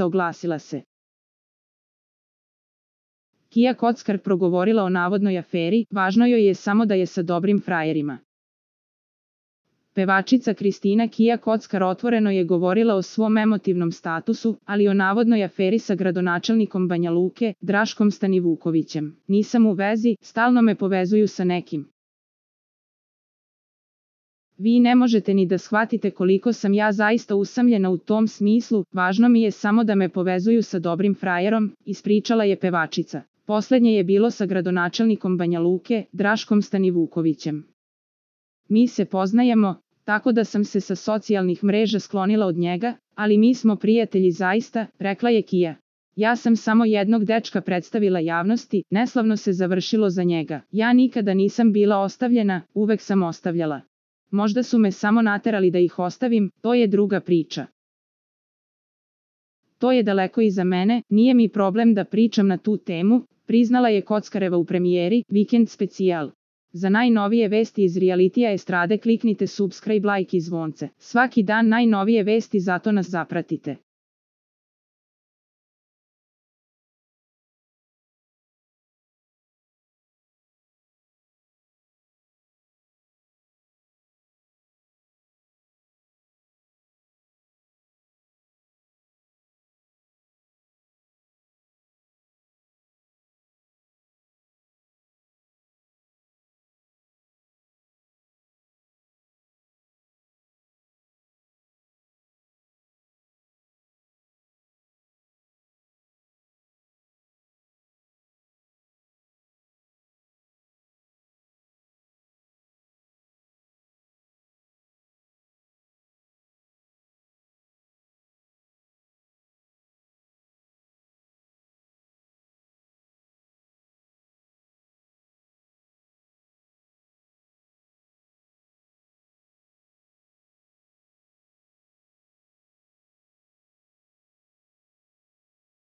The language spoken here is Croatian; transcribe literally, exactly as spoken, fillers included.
oglasila se. Kija Kockar progovorila o navodnoj aferi, važno joj je samo da je sa dobrim frajerima. Pevačica Kristina Kija Kockar otvoreno je govorila o svom emotivnom statusu, ali i o navodnoj aferi sa gradonačelnikom Banja Luke, Draškom Stanivukovićem. Nisam u vezi, stalno me povezuju sa nekim. Vi ne možete ni da shvatite koliko sam ja zaista usamljena u tom smislu, važno mi je samo da me povezuju sa dobrim frajerom, ispričala je pevačica. Poslednje je bilo sa gradonačelnikom Banja Luke, Draškom Stanivukovićem. Mi se poznajemo, tako da sam se sa socijalnih mreža sklonila od njega, ali mi smo prijatelji zaista, rekla je Kija. Ja sam samo jednog dečka predstavila javnosti, neslavno se završilo za njega. Ja nikada nisam bila ostavljena, uvek sam ostavljala. Možda su me samo naterali da ih ostavim, to je druga priča. To je daleko iza mene, nije mi problem da pričam na tu temu, priznala je Kockareva u premijeri Vikend specijal. Za najnovije vesti iz realitija estrade kliknite subscribe, like i zvonce. Svaki dan najnovije vesti, zato nas zapratite.